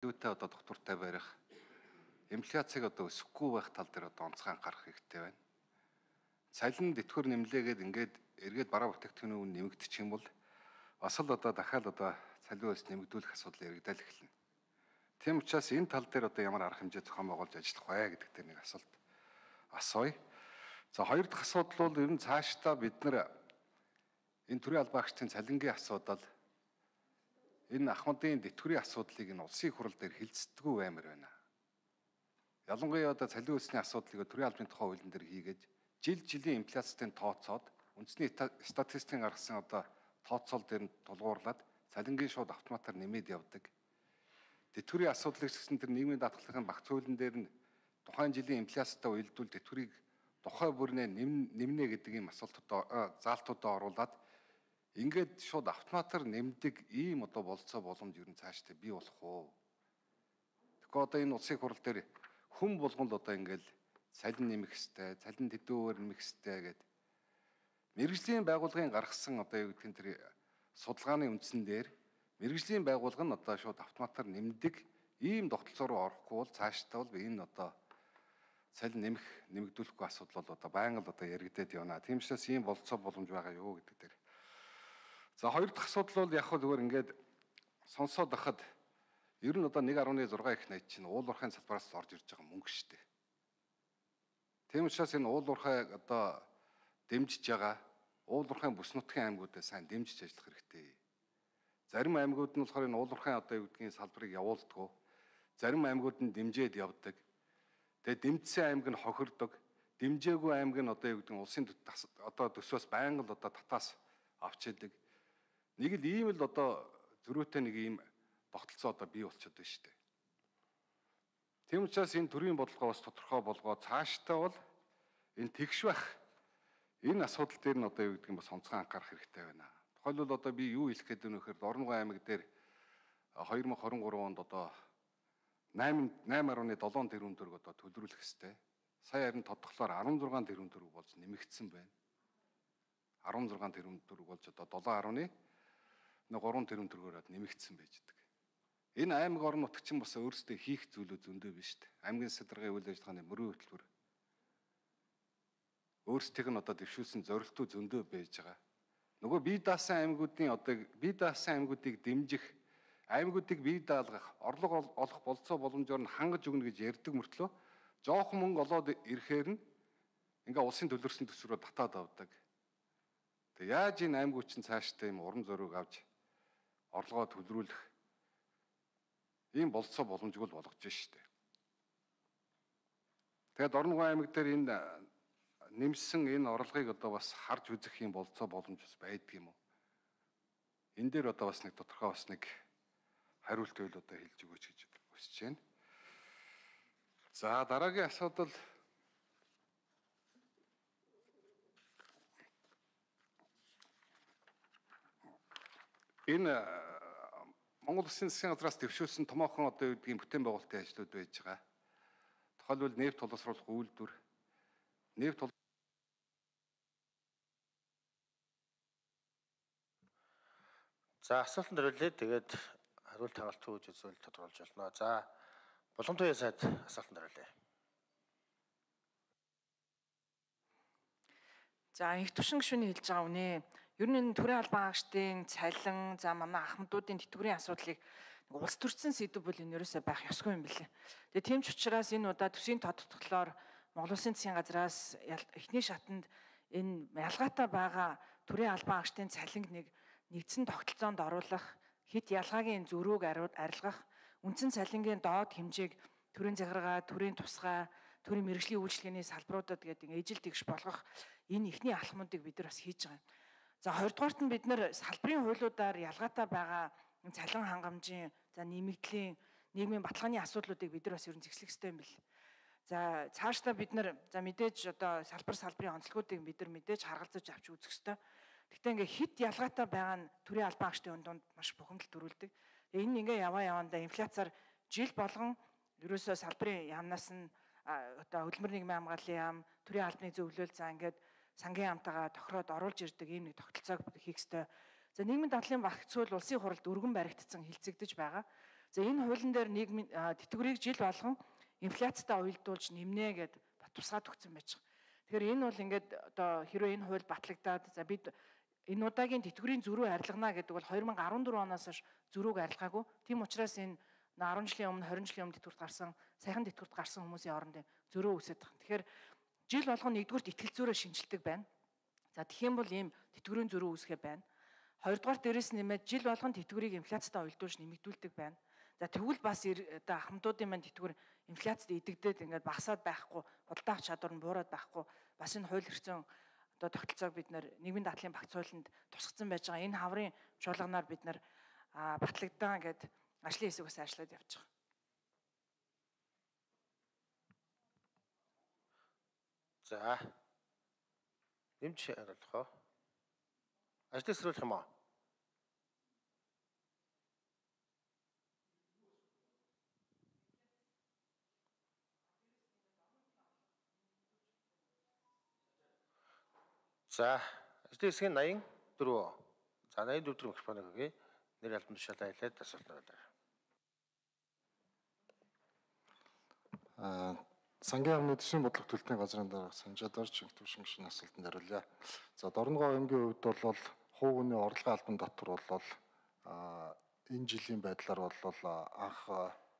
Юутай одоо доктортай барих, инфляцийг одоо өсөхгүй байх тал дээр одоо онцгой анхаарах хэрэгтэй байна. Цалин тэтгэвэр нэмлээгээд ингээд эргээд бараа бүтээгдэхүүний үн нэмэгдчих юм бол бас л одоо дахиад одоо цалин хөлс нэмэгдүүлэх асуудал яригдал эхэлнэ. Тийм учраас энэ тал дээр одоо ямар арга хэмжээ зохион байгуулж ажиллах вэ гэдэг дээр нэг асуулт асууя. За хоёр дахь асуудал бол ер нь цаашдаа бид нар энэ төрийн албан агчдын цалингийн асуудал энэ ахмадын тэтгэврийн асуудлыг энэ улсын хурал дээр хилцдэггүй баймар байна. Ялангуяа одоо цалин хөлсний асуудлыг төрийн албаны тухай хуулийн дээр хийгээд жилийн инфляцийн тооцоод үндэсний статистикийн гаргасан одоо тооцоол дээр нь тулгуурлаад цалингийн шууд автоматар нэмээд явдаг. Тэтгэврийн асуудлыг гэсэн тэр нийгмийн даатгалын багц хуулийн дээр нь тухайн жилийн инфляцтай уялдвал тэтгэврийг тухай бүрнээ нэмнэ гэдэг ийм заалтуудаа оруулаад ингээд шууд автоматар нэмдэг ийм одоо болцоо боломж ер нь цаашдаа бий болох уу? Тэгэхээр одоо энэ улсын хурал дээр хүн болгонд одоо ингээд цалин нэмэх хэвээр, цалин тэдүүгээр нэмэх хэвээр гэдэг мэргэжлийн байгууллагын гаргасан одоо юу гэдгийг тэр судалгааны үндсэн дээр мэргэжлийн байгууллага нь одоо шууд автоматар нэмдэг ийм тогтолцоо руу орохгүй бол цаашдаа бол энэ одоо цалин нэмэгдүүлэхгүй асуудал бол одоо байнга л одоо яригдээд явна. Тийм учраас ийм болцоо боломж байгаа юу гэдэг дээр. За хоёр дахь асуудал бол яг хөө зүгээр ингээд сонсоод байхад ер нь одоо 1.6 их найт чинь уул уурхайн салбараас орж ирж байгаа мөнгө шүү дээ. Тийм учраас энэ уул уурхай одоо дэмжиж байгаа уул уурхайн бүс нутгийн аймагуудаа сайн дэмжиж ажиллах хэрэгтэй. Зарим аймагуд нь болохоор энэ уул уурхайн одоо юу гэдгийг салбарыг явуулдаггүй. Зарим аймагуд нь дэмжиж явдаг. Тэгээ дэмжсэн аймаг нь хохирдог. Дэмжээгүй аймаг нь одоо юу гэдэг нь улсын одоо төсвөөс байнга л одоо татаас авч яадаг. Нэг л ийм л одоо зөрүүтэй нэг ийм тогтолцоо одоо бий болчиход байна шүү дээ. Тийм учраас энэ төрийн бодлогоо бас тодорхой болгоод цаашдаа бол энэ тэгш байх энэ асуудал дээр нь одоо юу гэдэг нь бас онцгой анхаарах хэрэгтэй байна. Тухайлбал одоо би юу хэлэх гээд байна вэ гэхээр Орон аймаг дээр 2023 онд одоо 8.7 тэрбум төгрөг одоо төлрүүлэх хэвээр. Сая харин тодглохлоор 16 тэрбум төгрөг болж нэмэгдсэн байна. 16 тэрбум төгрөг болж одоо 7.3 тэрбум төгрөгөөр нэмэгдсэн байж байгаа. Энэ аймаг орон нутг чинь бас өөрсдөө хийх зүйлүүд зөндөө биш үү? Аймгийн садаргын үйл ажиллагааны мөрийн хөтөлбөр өөрсдийг нь одоо дэвшүүлсэн зорилтууд зөндөө байж байгаа. Нөгөө бие даасан аймагуудыг дэмжих, аймагуудыг бие даалгах, орлого олох болцоо боломжоор нь хангаж өгнө гэж ярьдаг мөртлөө жоохон мөнгө олоод ирэхээр нь ингээ улсын төлөрсөн төсвөрөөр татаад авдаг. Тэг яаж энэ аймагуд чинь цаашдаа юм уран зориг авч орлогоо төлрүүлэх ийм болцоо боломжгүй болгож штэ. Тэгээд Орон аймаг дээр энэ нэмсэн энэ орлогыг одоо бас харж үзэх юм болцоо боломж бас байдаг юм уу? Энэ дээр одоо бас нэг тодорхой бас нэг хариулт байл одоо хэлж өгөөч гэж хүсэж байна. За дараагийн асуудал энэ Монгол Улсын засгийн газраас дэвшүүлсэн томоохон одоо юу гэдгийг бүтээн байгуулалтын ажлууд байж байгаа. Тухайлбал нефть боловсруулах үйлдвэр, За асуултанд хариулъя. Тэгээд хариулт хагалт өгж үзвэл тодорхойлж болно. За Боломжтой сайд асуултанд хариулъя. За их түвшин гишүүний хэлж байгаа үнэ. Ер нь энэ төрийн албан агчдын цалин, за манай ахмадуудын тэтгэврийн асуудлыг улс төрчин сэдв бол энэ ерөөсөй байх ёсгүй юм билээ. Тэгээ тийм ч учраас энэ удаа төсвийн тодтолцоолоор Монгол Улсын засгийн газраас эхний шатанд энэ ялгаатай байгаа төрийн албан агчдын цалинг нэгдсэн тогтолцоонд оруулах, хэд ялгаагийн зөрүүг арилгах, үндсэн цалингийн доод хэмжээг төрийн захиргаа, төрийн тусгай, төрийн мэргэжлийн үйлчилгээний салбаруудад гэдэг ижил тэгш болгох энэ ихний алхмуудыг бид нар бас хийж байгаа юм. За хоёрдугаарт нь бид нар салбарын хуулиудаар ялгаатай байгаа цалин хангамжийн, за нэмэгдлийн, нийгмийн баталгааны асуудлуудыг бид нар бас ер нь зэгслэх хэрэгтэй юм бэл. За цаашдаа бид нар за мэдээж одоо салбарын онцлогуудыг бид нар мэдээж харгалзаж авч үзэх хэрэгтэй. Гэхдээ ингээ хит ялгаатай байгаа нь төрийн албан агчдын дунд маш бухимдал төрүүлдэг. Энэ ингээ явандаа инфляцаар жил болгон ерөөсөө салбарын яамнаас нь одоо хөдөлмөр нийгмийн хамгааллын яам, төрийн албаны зөвлөл за ингээд сангийн яамтайгаа тохироод оруулж ирдэг ийм нэг тогтолцоог хийх ёстой. За нийгмийн дадлын багц хууль улсын хуралд өргөн баригдсан хилцэгдэж байгаа. За энэ хуулийн дээр нийгмийн тэтгэврийг жил болгон инфляцтай уялдуулж нэмнэ гэд тусгаад өгсөн байж байгаа. Тэгэхээр энэ бол ингээд одоо хэрвээ энэ хууль батлагдаад за бид энэ удаагийн тэтгэврийн зөрүү арилгана гэдэг бол 2014 оноос хойш зөрүүг арилгаагүй. Тийм учраас энэ 10 жилийн өмнө 20 жилийн өмнө тэтгэврт гарсан, саяхан тэтгэврт гарсан хүмүүсийн оронд зөрөө үүсэж байгаа. Тэгэхээр жил болгон нэгдүгürt итгэл зүйрээ шинжилдэг байна. За тэгэх юм бол ийм тэтгэврийн зөрүү үүсгэх байна. Хоёрдугаар дээрээс нэмээд жил болгон тэтгэврийг инфляцтай уялдуулж нэмэгдүүлдэг байна. За тэгвэл бас одоо ахмадуудын маань тэтгэвэр инфляцид идэгдээд ингээд багасаад байхгүй, худалдаа авах чадвар нь буураад байхгүй. Бас энэ хууль эрхцэн одоо тогтолцоог бид нэр нийгмийн дадлын багц хуулинд тусгацсан байж байгаа. Энэ хаврын чуулганаар бид нэр батлагдаа гэд ажлын хэсэг бас ажиллаад явж байгаа. За. Нэмж хариулах уу? Ажлын сэрүүлэх юм аа? За, ажлын хэсгийн 84. За, 84 дэх микрофоныг өгье. Нэр албан тушаалаа хэлээд асуулт хариулъя. Сангийн амны төсвийн бодлого төлтийн газрын дарга Санжаадарч Төвшин гишүүний асуултанд хариулъя. За Дорногов аймгийн хувьд бол хувь хүний орлогын албан татвар бол энэ жилийн байдлаар бол анх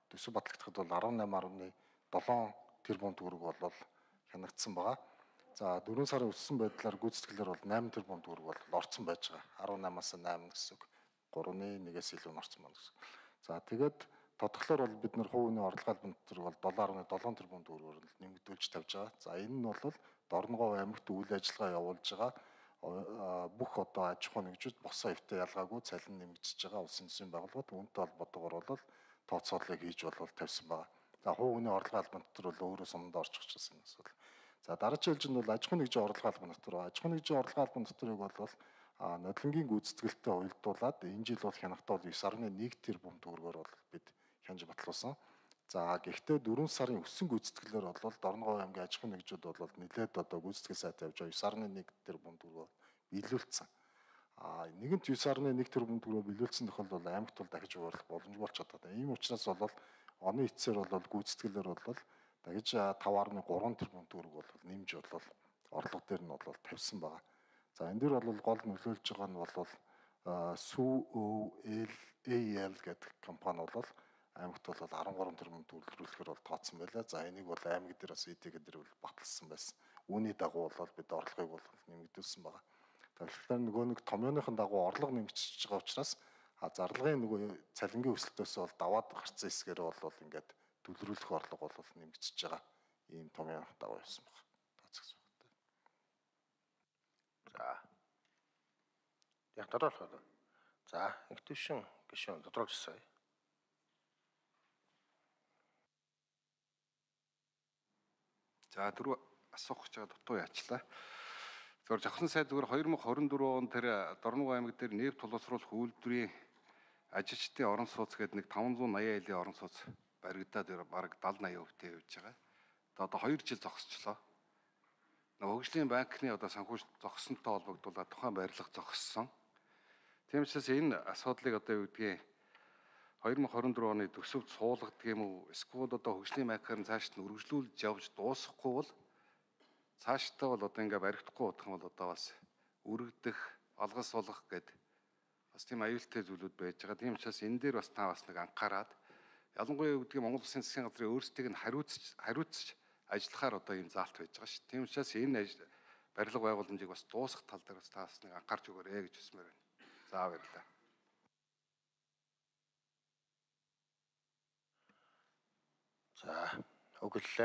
төсөв батлагдахад бол 18.7 тэрбум төгрөг бол хянагдсан байгаа. За 4 сарын өссөн байдлаар гүйцэтгэлээр бол 8 тэрбум төгрөг бол орцсон байж байгаа. 18-аас 8 гэсэн үг. 3.1-ээс илүү орцсон байна гэсэн. За тэгээд тодглоор бол бид нар хувийн орлогын албан татвар бол 7.7 тэрбум төгрөгөөр нэмэгдүүлж тавьж байгаа. За энэ нь бол Дорногов аймагт үйл ажиллагаа явуулж байгаа бүх одоо аж ахуй нэгжүүд босоо эвтэй ялгаагүй цалин нэмэгдэж байгаа улсын төсвийн байгууллагууд үүнтэй холбоотойгоор бол тооцооллыг хийж тавьсан байгаа. За хувийн орлогын албан татвар бол өөрөө суманд орчих гэсэн асуудал. За дараагийн жилд бол аж ахуй нэгжийн орлогын албан татвар. Аж ахуй нэгжийн орлогын албан татварыг бол нодлонгийн гүйцэтгэлтэй уялдуулаад энэ жил бол хянахтаа 9.1 тэрбум төгрөгөөр бол бид хянж батлуулсан. За гэхдээ 4 сарын өссөн гүйцэтгэлээр бол Дорногов аймгийн аж ахуй нэгжүүд бол нэлээд одоо гүйцэтгэл сайтай явж байгаа 9.1 тэрбум төгрөгөөр биелүүлсэн. Нэгэнт 9.1 тэрбум төгрөгөөр биелүүлсэн тохиолдолд аймагт бол дахиж хуваарлах боломжгүй болж чаддаг. Ийм учраас бол оны эцсээр бол гүйцэтгэлээр бол дахиж 5.3 тэрбум төгрөг бол нэмж бол орлого дээр нь бол тавьсан байгаа. За энэ дээр бол гол нөлөөлж байгаа нь бол SUOL гэдэг компани бол аймагт бол 13 тэрбум төлөвлөрөхөөр бол тооцсон байлаа. За энийг бол аймаг дээр бас ИТГ дээр бол баталсан байсан. Үүний дагуу бол бид орлогыг бол нэмэгдүүлсэн байгаа. Тэгэхээр нөгөө нэг томьёоныхон дагуу орлого нэмэгдэж байгаа учраас зарлагын нөгөө цалингийн өсөлтөөс бол даваад гарцсан хэсгээр бол ингээд төлөвлөрөх орлого бол нэмэгдэж байгаа. Ийм томьёоныхон дагуу явсан байна. Тооцсон байна. За. Яг тодорхойлох. За, их төвшин гишүүн тодорхойлсон. За дөрөв асуух гэж байгаа дутуу яачлаа. Зөвхөн жавхлан сайд зүгээр 2024 он тэр Дорногов аймаг дээр нефт тулгуурлах үйлдвэрийн ажилчдын орон сууц гэдэг нэг 580 айлын орон сууц баригдаад бараг 70-80% явж байгаа. Одоо 2 жил зогсчлоо. Хөгжлийн банкны одоо санхүүж зогссонтой холбогдуулаад тухайн барилга зогссон. Тийм учраас энэ асуудлыг одоо юу гэдгийг 2024 оны төсөвд суулгадг юм уу? Эсвэл одоо хөгжлийн банкаар цааш нь үргэлжлүүлж явж дуусахгүй бол цаашдаа бол одоо ингээ баригдахгүй удах юм бол одоо бас өргөдөх, алгас сулгах гэдэг бас тийм аюултай зүйлүүд байж байгаа. Тийм учраас энэ дээр бас та бас нэг анхаарад ялангуяа юу гэдгийг Монгол Улсын засгийн газрын өөрсдийг нь хариуцж ажиллахаар одоо ийм заалт байж байгаа шүү. Тийм учраас энэ барилга байгууламжийг бас дуусгах тал дээр бас та бас нэг анхаарч өгөөрэй гэж хүсмээр байна. За баярлалаа. За, өглөө.